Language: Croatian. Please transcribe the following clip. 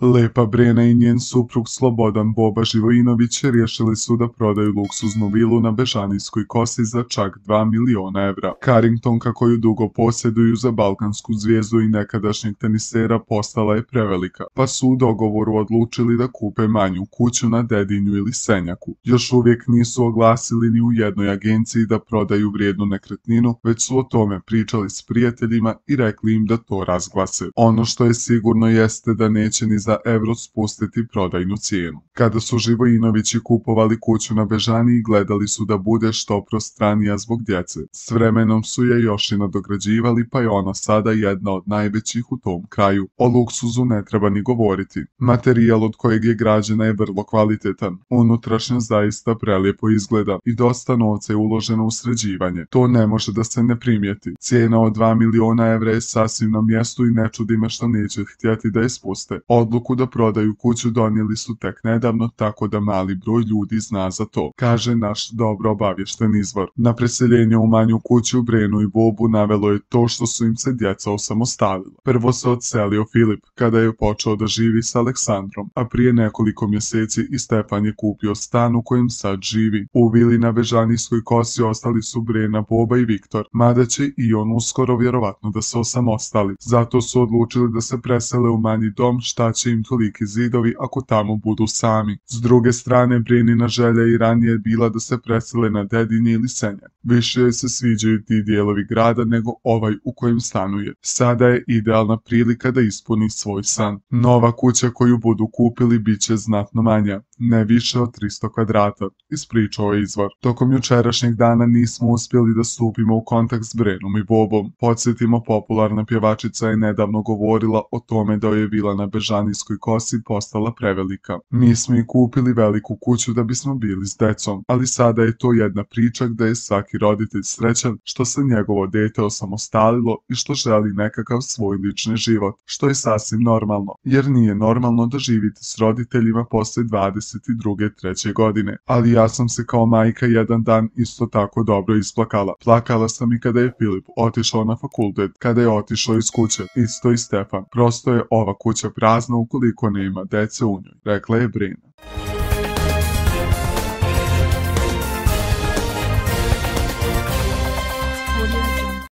Lepa Brena i njen suprug Slobodan Boba Živojinović riješili su da prodaju luksuznu vilu na Bežanijskoj kosi za čak 2 miliona evra. Carringtonka koju dugo posjeduju za balkansku zvijezdu i nekadašnjeg tenisera postala je prevelika, pa su u dogovoru odlučili da kupe manju kuću na Dedinju ili Senjaku. Još uvijek nisu oglasili ni u jednoj agenciji da prodaju vrijednu nekretninu, već su o tome pričali s prijateljima i rekli im da to razglase. Ono što je sigurno jeste da neće ni za evro spustiti prodajnu cijenu. Kada su Živojinovići kupovali kuću na Bežaniji, gledali su da bude što prostranija zbog djece. S vremenom su je još i nadograđivali, pa je ona sada jedna od najvećih u tom kraju. O luksuzu ne treba ni govoriti. Materijal od kojeg je građena je vrlo kvalitetan. Unutrašnja zaista prelijepo izgleda i dosta novca je uloženo u sređivanje. To ne može da se ne primijeti. Cijena od 2 miliona evra je sasvim na mjestu i ne čudi me što neće htjeti da je spuste. Odluku da prodaju kuću donijeli su tek nedavno, tako da mali broj ljudi zna za to, kaže naš dobro obavješten izvor. Na preseljenje u manju kuću Brenu i Bobu navelo je to što su im se djeca osamostalila. Prvo se odselio Filip, kada je počeo da živi s Aleksandrom, a prije nekoliko mjeseci i Stefan je kupio stan u kojem sad živi. U vili na Bežanijskoj kosi ostali su Brena, Boba i Viktor, mada će i on uskoro vjerovatno da se osamostali. Zato su odlučili da se presele u manji dom, šta će im toliki zidovi ako tamo budu sami. S druge strane, Brenina želja i ranije bila da se presele na Dedinje ili Senjak. Više joj se sviđaju ti dijelovi grada nego ovaj u kojem stanuje. Sada je idealna prilika da ispuni svoj san. Nova kuća koju budu kupili bit će znatno manja, ne više od 300 kvadrata, ispričao je izvor. Tokom jučerašnjeg dana nismo uspjeli da stupimo u kontakt s Brenom i Bobom. Podsjetimo, popularna pjevačica je nedavno govorila o tome da je vila na Bežanijskoj kosi postala prevelika. Mi smo i kupili veliku kuću da bismo bili s decom, ali sada je to jedna priča gdje je svaki roditelj srećan što se njegovo dete osamostalilo i što želi nekakav svoj lični život, što je sasvim normalno, jer nije normalno da živite s roditeljima posle 22. 3. godine. Ali ja sam se kao majka jedan dan isto tako dobro isplakala. Plakala sam i kada je Filip otišao na fakultet, kada je otišao iz kuće, isto i Stefan. Prosto je ova kuća prazna ukoliko nema dece u njoj, rekla je Brena.